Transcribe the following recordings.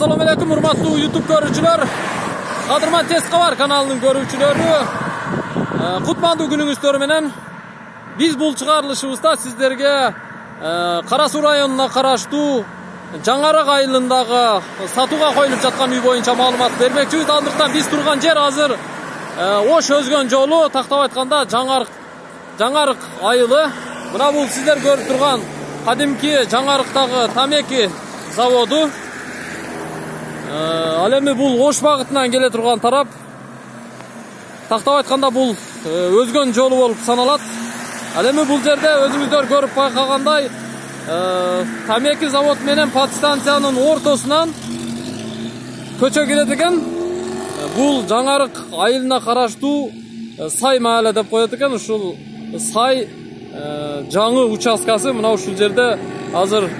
Assalomu alaykum hurmatli YouTube görүүчүлөр. Кадырман Тез Кабар каналынын көрүүчүлөрү. Кутмандуу күнүңүздөр менен биз бул чыгарылышыбызда сиздерге Кара Суу районуна караштуу Жаңарык айылындагы сатууга коюлуп жаткан үй боюнча маалымат бермекчибиз. Андыктан биз турган жер азыр Ош өзгөн жолу, тактап айтканда Жаңарык айылы. Мына бул сиздер көрүп турган кадимки Жаңарыктагы тамеки заводу. Ал эми бул Ош багытынан келе турган тарап. Тактап айтканда бул өзгөн жолу болуп саналат. Ал эми бул жерде өзүңүздөр көрүп байкагандай тамеки завод менен подстанциянын ортосунан көчө келет экен. Бул Жаңарык айылына караштуу Сай маале деп коет экен. Ушул Сай жаңы участкасы мына ушул жерде азыр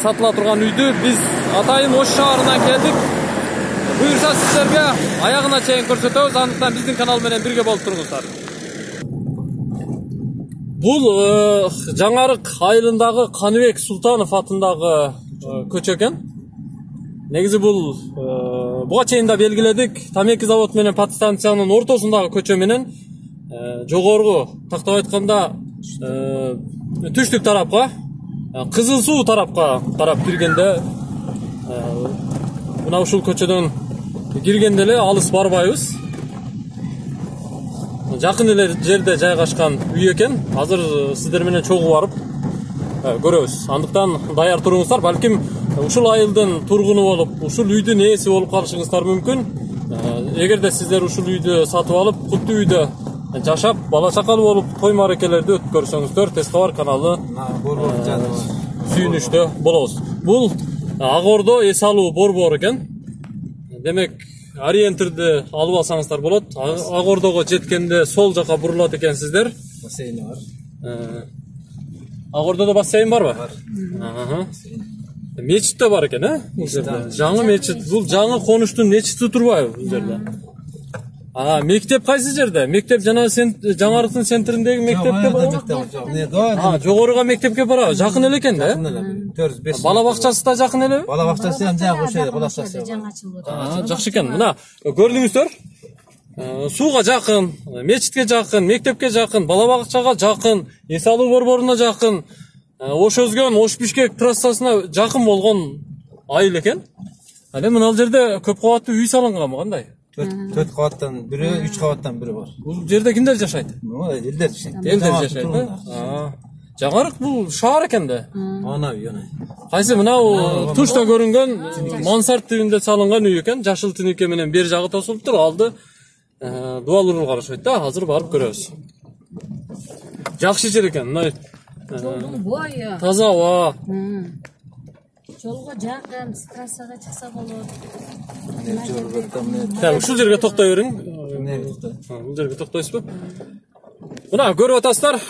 сатыла турган үйдү биз атайын Ош шаарынан келдик. Буюрса сиздерге аягына чейин көрсөтөбүз. Андыктан биздин канал менен бирге болуп туруңуздар. Бул Жаңарык айылындагы Каныбек Султанов атындагы көчө экен. Негизи бул буга чейин да белгиледик. Тамеки завод менен подстанциянын ортосундагы көчө менен жогорку тактап айтканда түштүк тарапка, Кызыл Суу тарапка тарап киргенде мына ушул көчөдөн киргенде эле алыс барбайбыз. Жакын эле жерде жайгашкан үй экен. Азыр сиздер менен чогуу барып көрөбүз. Андыктан даяр туруңуздар. Балким ушул айылдын тургуну болуп, ушул үйдүн ээси болуп калышыңыздар мүмкүн. Эгерде сиздер ушул үйдү сатып алып, куттуу үйдө жашап, бала чакалуу болуп, той маракелерди өтүп көрсөңүздөр, Тез Кабар каналы сүйүнүчтө болобуз. Бул Ак Ордо эс алуу борбору экен. Демек, ориентирди алып алсаңыздар болот. Ак Ордого жеткенде сол жака бурулат экенсиздер. Бассейни бар. Ак Ордодо бассейн барбы? Бар. Мечит да бар экен, Жаңы мечит. Бул жаңы конуштун мечити турбайбы бул жерде? Мектеп кайсы жерде? Мектеп жана Жаңарыктын центриндеги мектепке барабы? Жогоруга мектепке барабы? Жакын эле экен да? 4-5. Бала бакчасы да жакын элеби? Бала бакчасы ham жакын ошо кулачасы. Жакшы экен. Мына көрдүңүздөр. Сууга жакын, мечитке жакын, мектепке жакын, бала бакчага жакын, эс алуу борборуна жакын, Ош өзгөн, Ош Бишкек трассасына жакын болгон айыл экен. Ал эми мына жерде көп кабаттуу үй салынганбы кандай? 4 кабаттан бири, 3 кабаттан бири бар. Бул жерде кимдер жашайт? Элдер жашайт. Элдер жашайт. Жаңарык бул шаар экен да. Ана үй, ана. Кайсы мына тушта көрүнгөн мансард тибинде салынган үй экен. Жашыл тинике менен бер жагы тосулуптур. Алды дубал урул карашат да. Азыр барып көрөбүз. Жакшы жер экен. Мына таза аба. Жолго жакын, трассага чыкса болот. Ушул жерге токтой бериң. Бул жерге токтойсузбу? Мына көрүп атасыздар.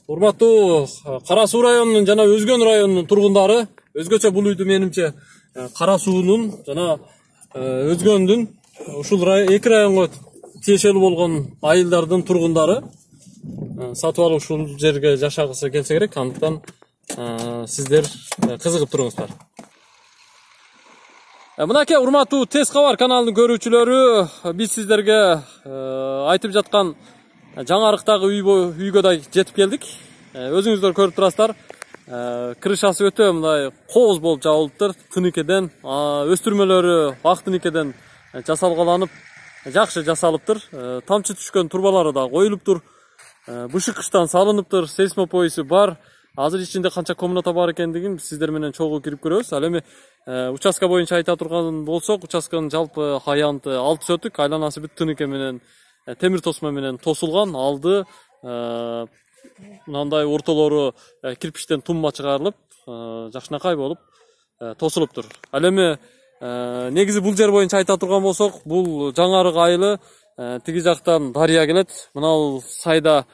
Урматтуу Кара Суу районунун жана Өзгөн районунун тургундары, өзгөчө бул үйдү менимче Кара Суунун жана Өзгөндүн ушул эки районго тиешелүү болгон айылдардын тургундары сатып алып ушул жерге жашагысы келсе керек. Андыктан сиздер кызыгып туруңуздар. Мынакей урматтуу Тез Кабар каналынын көрүүчүлөрү, биз сиздерге айтып жаткан Жаңарыктагы үйгө да жетип келдик. Өзүңүздөр көрүп турасыздар. Крышасы өтө мындай кооз болуп жабылыптыр. Тыникеден, өстүрмөлөрү ак тыникеден жасалгаланып, жакшы жасалыптыр. Тамчы түшкөн турбалары да коюлуптур. Бышыккычтан салыныптыр, сейсмопоисы бар. Азыр ичинде канча комната бар экендигин сиздер менен чогуу кирип көрөбүз. Ал эми участка боюнча айта турган болсок, участканын жалпы аянты 6 сөтүк, айланасы бүт тынике менен темир тосма менен тосулган. Алды мындай ортолору кирпичтен тумма чыгарылып, жакшынакай болуп тосулуптур. Ал эми негизи бул жер боюнча айта турган болсок, бул Жаңарык айылы тиги жактан дарыя келет. Мына сайда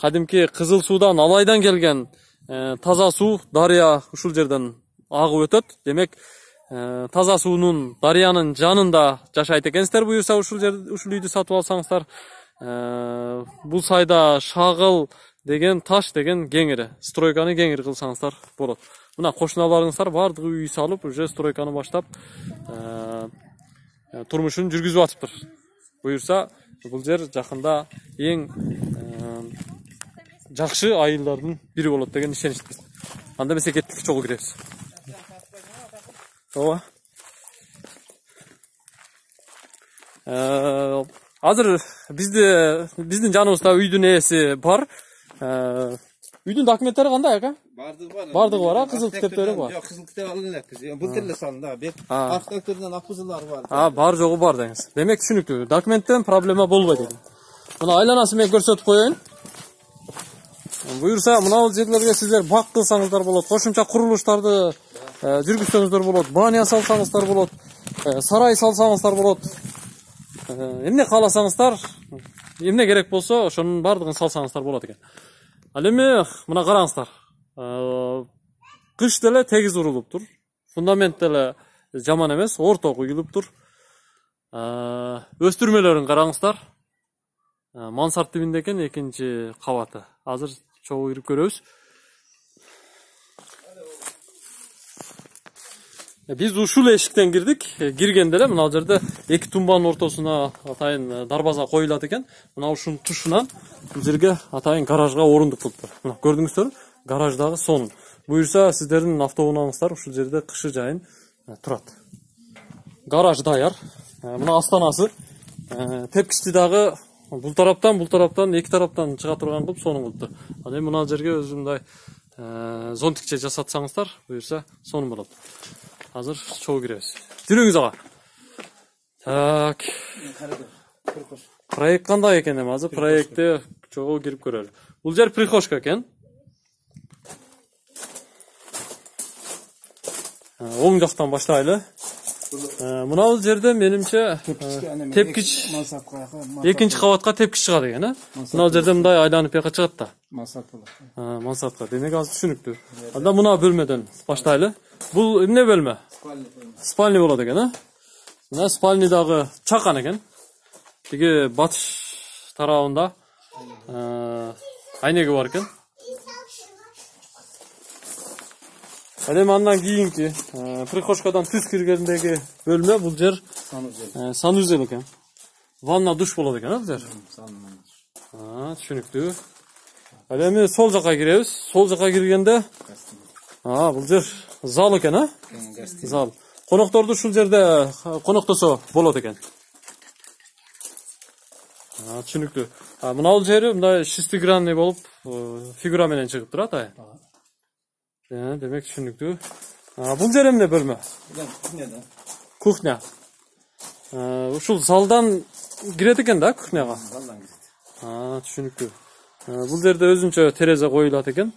кадимки Кызыл Суудан, Алайдан келген таза суу дарыя ушул жерден агып өтөт. Демек, таза суунун дарыянын жанында жашайт экенсиздер. Буюрса ушул үйдү сатып алсаңыздар, бул сайда Шагыл деген таш деген кеңири, стройканы кеңири кылсаңыздар болот. мына кошуналарыңыздар баардыгы үй салып, уже стройканы баштап турмушун жүргүзүп атыптыр. Буюрса, бул жер жакында эң жакшы айылдардын бири болот деген ишеничпиз. Анда эмесе кеттик, чогуу киребиз. Ооба. Азыр биздин жаныбызда үйдүн ээси бар. Үйдүн документтери кандай ака? Бардыгы бар, кызыл китептери бар. Жок, кызыл китеп алып элекпиз. Бул тиле салынды, бек архитектордон акбызылары бар. Бар жогу бар деңиз. Демек түшүнүктүү. Документтен проблема болбойт экен. Мына айланасын мен көрсөтүп коеюн. Буюрса, мына жерлерге сиздер бак кылсаңыздар болот, кошумча курулуштарды жүргүзсөңүздөр болот, баня салсаңыздар болот, сарай салсаңыздар болот. Эмне кааласаңыздар, эмне керек болсо, ошонун баардыгын салсаңыздар болот экен. Ал эми мына караңыздар. Кыш деле тегиз урулуптур. Фундамент деле жаман эмес, орто куюлуптур. Өстүрмөлөрүн караңыздар. Мансарт тибинде экен, экинчи кабаты. Азыр чогуу кирип көрөбүз. Биз ушул эшиктен кирдик. Киргенде эле мына жерде эки тумбанын ортосуна атайын дарбаза коюлат экен. Мына ушунун тушунан бул жерге атайын гаражга орундук кылыптыр. Мына көрдүңүздөр, гараждагы сонун. Буюрса, сиздердин автоунааңыздар ушул жерде кышы жайын турат. Гараж даяр. Мына астанасы. Тепкичти дагы бул тараптан эки тараптан чыга турган кылып сонун кылыптыр. Ал эми мына жерге өзү мындай зонтикче жасатсаңыздар, буюрса сонун болот. Азыр чогуу киребиз. Жүрүңүз ага. Так. Проект кандай экен эми? Азыр проектте чогуу кирип көрөлү. Бул жер прихожка экен. Оң жактан баштайлы. Мына бул жерде менимче тепкич экинчи кабатка тепкич чыгат экен, а? Мына жерде мындай айланып бияка чыгат да. Мансарт болот. Мансартка. Демек азыр түшүнүктүү. Анда мына бөлмөдөн баштайлы. Бул эмне бөлмө? Спальня болот экен, а? Мына спальнядагы чакан экен. Тиги батыш тарабында айнеги бар экен. Ал эми андан кийинки прихожкадан түз киргендеги бөлмө бул жер санузел экен. Ванна душ болот экен, а бул жер? Түшүнүктүү. Ал эми сол жака киребиз. Сол жака киргенде бул жер зал экен, а? Зал. Конокторду ушул жерде коноктосо болот экен. Түшүнүктүү. Мына бул жери мындай шестигранный болуп, фигура менен чыгып турат, Демек түшүнүктүү. Бул жер эмне бөлмө? Кухня. Ушул залдан кирет экен да кухняга? Залдан кирет. Түшүнүктүү. Бул жерде өзүнчө терезе коюлат экен.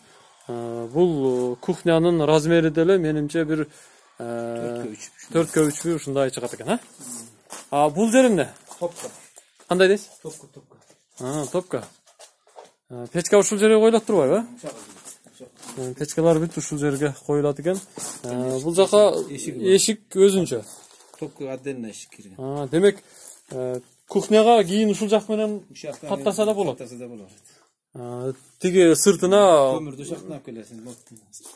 Бул кухнянын размери деле менимче бир 4x3 ушундай чыгат экен, а? Бул жер эмне? Топка. Кандай дейсиз? Топка. Топка. Печка ушул жерге коюлат турбайбы? Печкалар бүт ушул жерге коюлат экен. Бул жака эшик өзүнчө. Топка отдельно эшик кирген. Демек, кухняга кийин ушул жак менен каттаса да болот. Тиги сыртына көмүрдү шактап келесиң.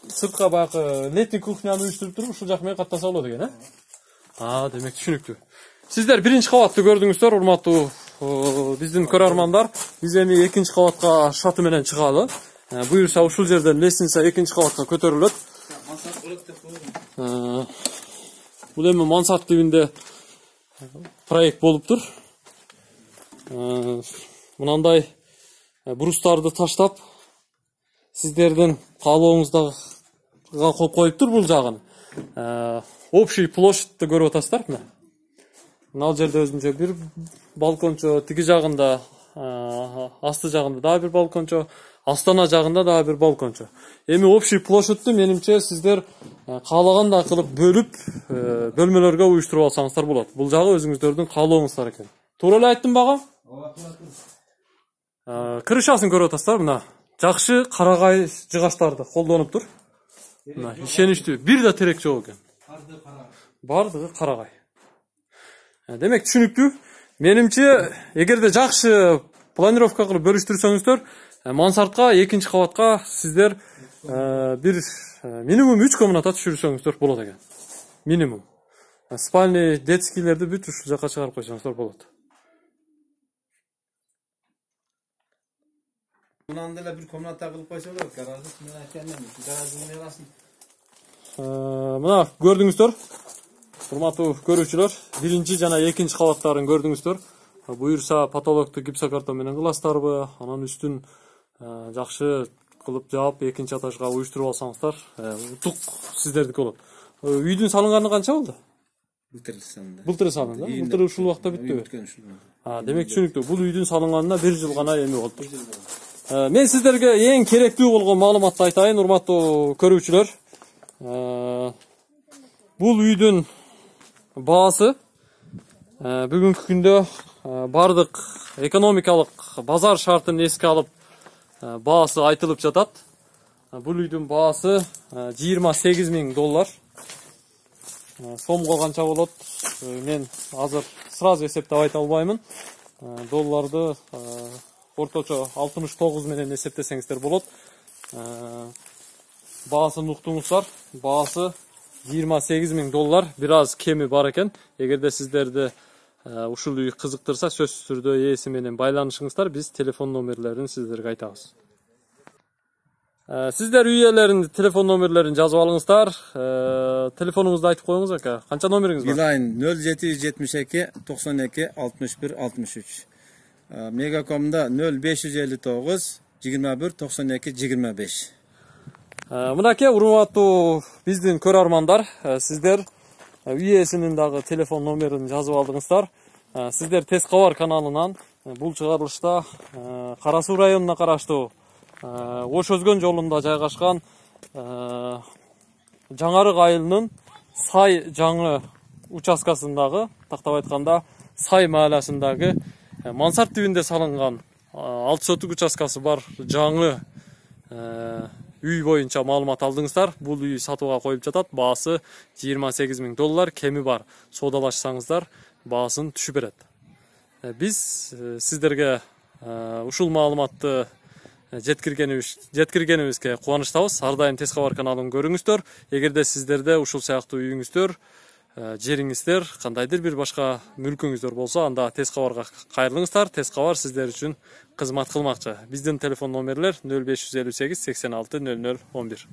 Сыртка баягы летний кухняны уюштуруп туруп ушул жак менен каттаса болот экен, Демек түшүнүктүү. Сиздер биринчи кабатты көрдүңүздөр, урматтуу биздин көрөрмандар. Биз эми экинчи кабатка шаты менен чыгалы. Буюрса ушул жерден лестница экинчи кабатка көтөрүлөт. Бул эми мансарт тибинде проект болуптур. Мынандай брустарды таштап, сиздердин каалооңузга коюптур бул жагын. Общий площадьты көрүп атасыздар, мына. Мына жерде өзүнчө бир балкончо, тиги жагында, асты жагында дагы бир балкончо, астана жагында дагы бир балкончо. Эми общий площадьты менимче сиздер каалагандай кылып бөлүп, бөлмөлөргө уюштуруп алсаңыздар болот. Бул жагы өзүңүздөрдүн каалооңуздар экен. Туура эле айттым багам? Крышасын көрүп атасыздар, мына. Жакшы карагай жыгачтарды колдонуптур. Мына ишеничтүү. Бир да терек жок экен. Бардыгы карагай. Демек түшүнүктүү. Менимче, эгерде жакшы планировка кылып бөлүштүрсөңүздөр, мансартка, экинчи кабатка сиздер бир минимум 3 комната түшүрсөңүздөр болот экен. Минимум. Спальный, детскийлерди бүт ушул жака чыгарып койсоңуздар болот. Мындан деле бир комната кылып койсо болот. Гараждын ырасын. Мына көрдүңүздөр. Урматтуу көрүүчүлөр, биринчи жана экинчи кабаттарын көрдүңүздөр. Буюрса патологду гипсокартон менен кыласыздарбы, анан үстүн жакшы кылып жаап экинчи этажга уюштуруп алсаңыздар, утук сиздердики болот. Үйдүн салынганы канча болду? Былтыр салынды. Былтыр салынды. Былтыр ушул убакта бүттүбү? Демек түшүнүктүү. Бул үйдүн салынганына 1 жыл гана эми болду. Мен сиздерге эң керектүү болгон маалыматты айтайын, урматтуу көрүүчүлөр. Бул үйдүн баасы бүгүнкү күндө бардык экономикалык базар шартын эске алып баасы айтылып жатат. Бул үйдүн баасы $28,000. Сомго канча болот? Мен азыр сразу эсептеп айта албаймын. Долларды орточо 69 менен эсептесеңиздер болот. Баасын уктуңуздар. Баасы $28,000. Бир аз кеми бар экен. Эгерде сиздерди ушул үй кызыктырса, сөзсүз түрдө ээси менен байланышыңыздар. Биз телефон номерлерин сиздерге айтабыз. Сиздер үй ээлеринин телефон номерлерин жазып алыңыздар. Телефонуңузду айтып коюңуз ака. Канча номериңиз бар? Билайн 0772 92 61 63. Мегакомда 0559 21 92 25. Мынакей урматтуу биздин көрөрмандар, сиздер үй ээсинин дагы телефон номерин жазып алдыңыздар. Сиздер Тез кабар каналынан бул чыгарылышта Кара Суу районуна караштуу Ош Өзгөн жолунда жайгашкан Жаңарык айылынын Сай жаңы участкасындагы, тактап айтканда Сай мааласындагы мансарт тибинде салынган 6 сотук участкасы бар жаңы үй боюнча маалымат алдыңыздар. Бул үй сатууга коюлуп жатат. Баасы $28,000. Кеми бар. Соодалашсаңыздар, баасын түшүп берет. Биз сиздерге ушул маалыматты жеткиргенибизге кубанычтабыз. Ар дайым Тез кабар каналын көрүңүздөр. Эгерде сиздерде ушул сыяктуу үйүңүздөр, жериңиздер, кандайдыр бир башка мүлкүңүздөр болсо, анда Тез кабарга кайрылыңыздар. Тез кабар сиздер үчүн кызмат кылмакчы. Биздин телефон номерлер 0558 86 00 11.